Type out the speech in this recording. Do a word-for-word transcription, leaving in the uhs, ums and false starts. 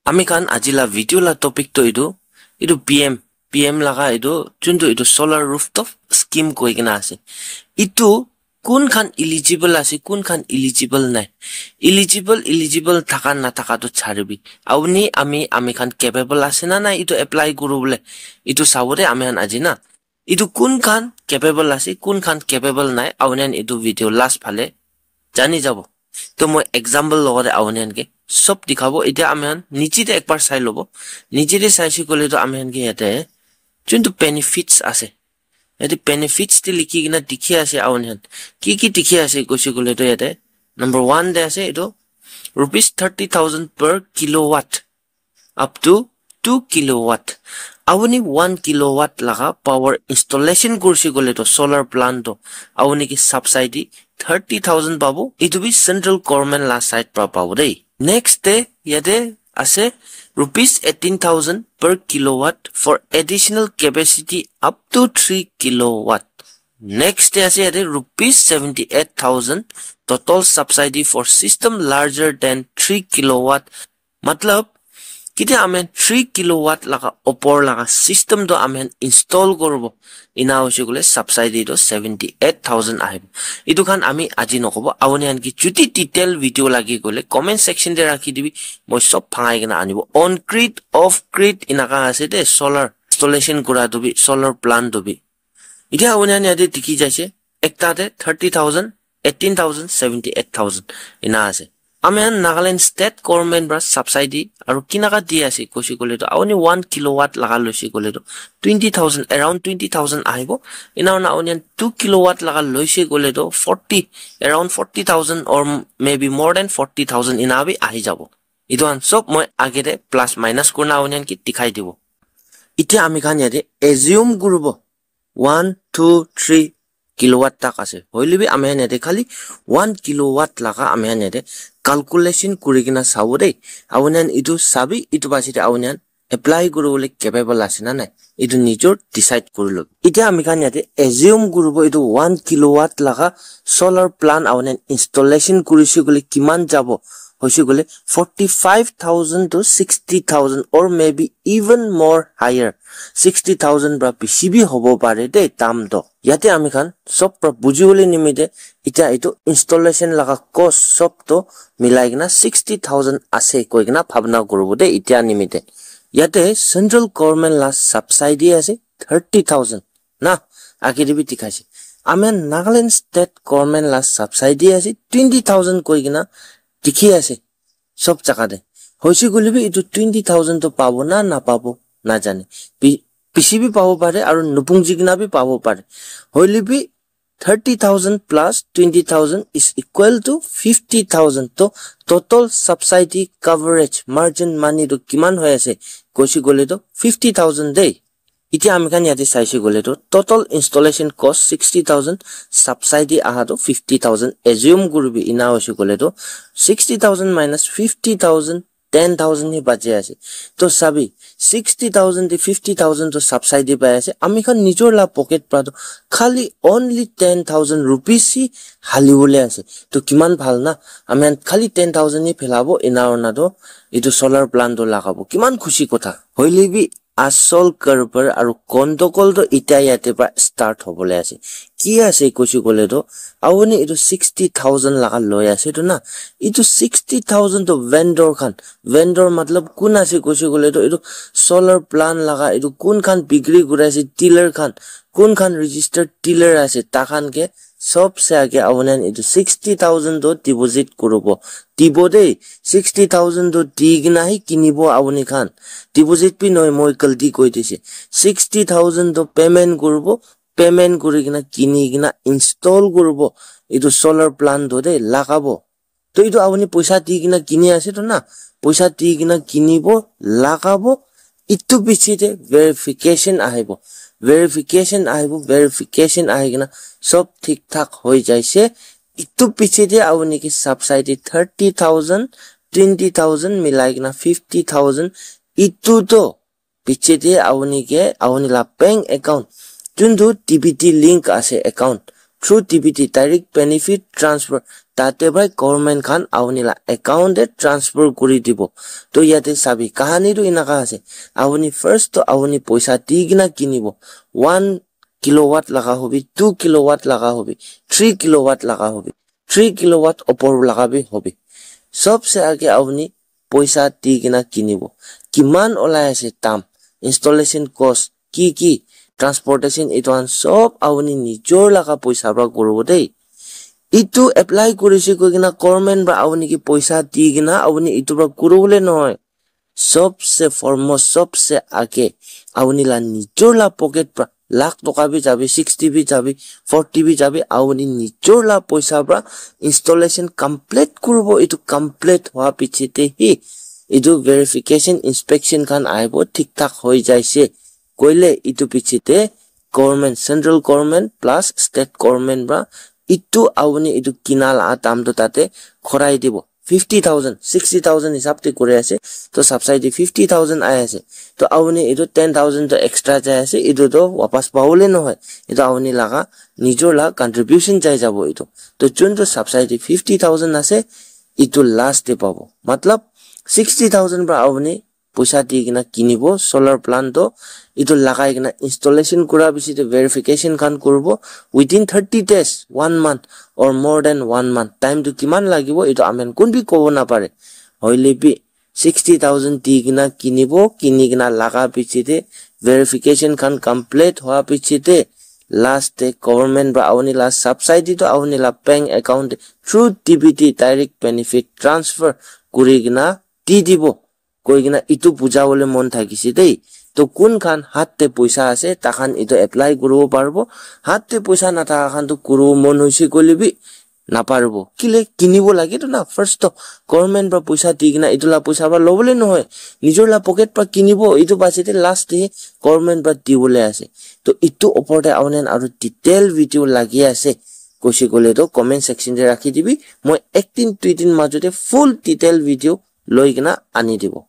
Ami khan aji la video la topic to etu, etu P M, P M laga etu, juntu etu solar rooftop scheme koi kena ase. Etu kun khan eligible ase, kun khan eligible nai. Eligible, eligible thaka na thaka to charibi. Auni ami, ami khan capable ase na nai etu apply kuru bole. Etu sabo de ami khan aji na. Etu kun khan capable ase, kun khan capable nai, auni khan etu video last phale jani jabo. To moi example logote auni khan ke sob dikhabo. Etia ami khan niche te ekbar sai lobo. Niche te saise koile to ami khan ke yate juntu benefits ase. Yate benefits te likhi kena dikhi ase auni khan. Ki ki dikhi ase koise koile to yate number one te ase etu rupees thirty thousand per kilowatt up to two kilowatt. Auni one kilowatt laga power installation kursi koile to solar plant to auni ki subsidy thirty thousand pabo. Etu bi central government la side pra pabo dei. Next te yate ase rupees eighteen thousand per kilowatt for additional capacity up to three kilowatt. Next te ase yate rupees seventy eight thousand total subsidy for system larger than three kilowatt. Matlab, ketia ami khan three kilowatt laga opor laga system to ami khan install koribo, ina hoise koile subsidy to seventy eight thousand ahibo. Etu khan ami aji nokobo, auni khan ki juti detail video lagi koile comment section te rakhi dibi, moi sob bhangai kena anibo. On grid, off grid, inaka ase de, solar installation kura to bi, solar plant to bi. Etia auni khan yate dikhi jaise, ekta te thirty thousand, eighteen thousand, seventy eight thousand, ina ase. Ami khan Nagaland state government pra subsidy aru kinaka di ase koise koile to, auni one kilowatt laga loise koile to twenty thousand, around twenty thousand ahibo. Ina hoina auni khan two kilowatt laga loise koile to forty, around forty thousand or maybe more than forty thousand ina bi ahi jabo. Etu khan sob moi age te plus minus kurina auni khan ki dikhai dibo. Etia ami khan yate assume kuribo one, two, three kilowatt tak ase. Hoile bi ami khan yate khali one kilowatt laga ami khan yate calculation kuri kena sabo dei. Auni khan etu sabi, etu basi te auni khan apply kuri bole capable ase na nai, etu nijor decide kuri lo. Etia ami khan yate assume kuribo etu one kilowatt laga solar plant auni khan installation kurise koile kiman jabo, hoise koile forty five thousand to sixty thousand or maybe even more higher. Sixty thousand pra bishi bi hobo pare de dam to. Yate ami khan sob pra buji bole nimite etia etu installation laga cost sob to milai kena sixty thousand ase koi kena bhabna kuribo de etia nimite. Yate central government la subsidy ase thirty thousand na, age te bi dikhaise. Ami khan Nagaland state government la subsidy ase twenty thousand koi kena dikhi ase sob jaga te. Hoise koile bi etu twenty thousand to pabo na napabo najane. Bi-, bishi bi pabo pare aru nupunji kena bi pabo pare. Hoile bi thirty thousand plus twenty thousand is equal to fifty thousand. To total subsidy coverage margin money to kiman hoi ase koise koile to fifty thousand dei. Etia ami khan yate saise koile to total installation cost sixty thousand, subsidy aha to fifty thousand assume kuribi, ina hoise koile to sixty thousand minus fifty thousand, ten thousand hi baji ase. To sabi, sixty thousand te fifty thousand to subsidy pai ase. Ami khan nijor la pocket pra to khali only ten thousand rupees hi hali bole ase. To kiman bhal na, ami khan khali ten thousand hi phelabo, ina hoina to etu solar plant to lagabo. Kiman khushi kotha. Hoile bi asol karbar aru kondokol to etia yate pra start hobole ase. Ki ase koise koile to, auni etu sixty thousand laga loi ase to na, etu sixty thousand to vendor khan, vendor matlab kun ase koise koile to, etu solar plant laga etu kun khan bikri kuri ase, dealer khan, kun khan registered dealer ase, takhan ke sob se age auni khan etu sixty thousand to deposit kuribo. Dibo de, sixty thousand to di kena hi kinibo auni khan. Deposit bi nohoi, moi galti koi dise. Sixty thousand to payment kuribo, payment kuri kena kini kena install kuribo. Etu solar plant to de lagabo. To etu auni poisa di kena kini ase to na, poisa di kena kinibo, lagabo, etu piche te verification ahibo, verification ahibo, verification ahi kena sob thik thak hoi jaise. Etu piche te auni ke subsidy thirty thousand, twenty thousand milai kena fifty thousand. Etu to piche te auni ke, auni la bank account, juntu D B T link ase account, through D B T, direct benefit transfer, tate para government khan apuni la account te transfer kuri dibo. To yate sabi, kahani tu enaka ase. Apuni first to apuni poisa di kena kinibo. One kilowatt laga hobi, two kilowatt laga hobi, three kilowatt laga hobi, three kilowatt opor laga bi hobi. Sobse age apuni poisa di kena kinibo. Kiman olai ase dam, installation cost, ki ki, transportation, etu khan sob apuni nijor laga poisa para kuribo dei. Etu apply kurise koi kena government para apuni ke poisa di kena apuni etu para kuribole nohoi. Sobse foremost, sobse age, apuni la nijor la pocket para lakh toka bi jabi, sixty bi jabi, forty bi jabi, apuni nijor la poisa para installation complete kuribo. Etu complete hua piche te hi etu verification, inspection khan ahibo, thik thak hoi jaise koile etu piche te government, central government plus state government para etu apuni etu kina la dam tu tate khorai dibo. Fifty thousand, sixty thousand hisab te kuri ase, to subsidy fifty thousand ahi ase, to apuni etu ten thousand to extra jai ase, etu to wapas pabole nohoi, etu apuni laga nijor la contribution jai jabo etu. To jun to subsidy fifty thousand ase, etu last te pabo. Matlab, sixty thousand para apuni poisa di kena kinibo solar plant to, etu lagai kena installation kura piche te verification khan kuribo. Within thirty days, one month or more than one month, time tu kiman lagibo, etu amen kun bi kobo napare. Hoile bi sixty thousand di kena kinibo, kini kena laga piche te verification khan complete hua piche te last te government para apuni la subsidy to apuni la bank account te through D B T, direct benefit transfer kuri kena di dibo. Koi kena etu buja bole mon thakise dei. To kun khan hat te poisa ase, takhan etu apply kuribo paribo. Hat te poisa nathaka khan to kuribo mon hoise koile bi naparibo. Kile kinibo lage to na, first to government para poisa di kena etu la poisa para lobole nohoi. Nijor la pocket para kinibo, etu piche te last te government para dibole ase. To etu opor te apuni khan aru detail video lagi ase koise koile to comment section te rakhi dibi. Moi ek din, dui din majo te full detail video loi kena ani dibo.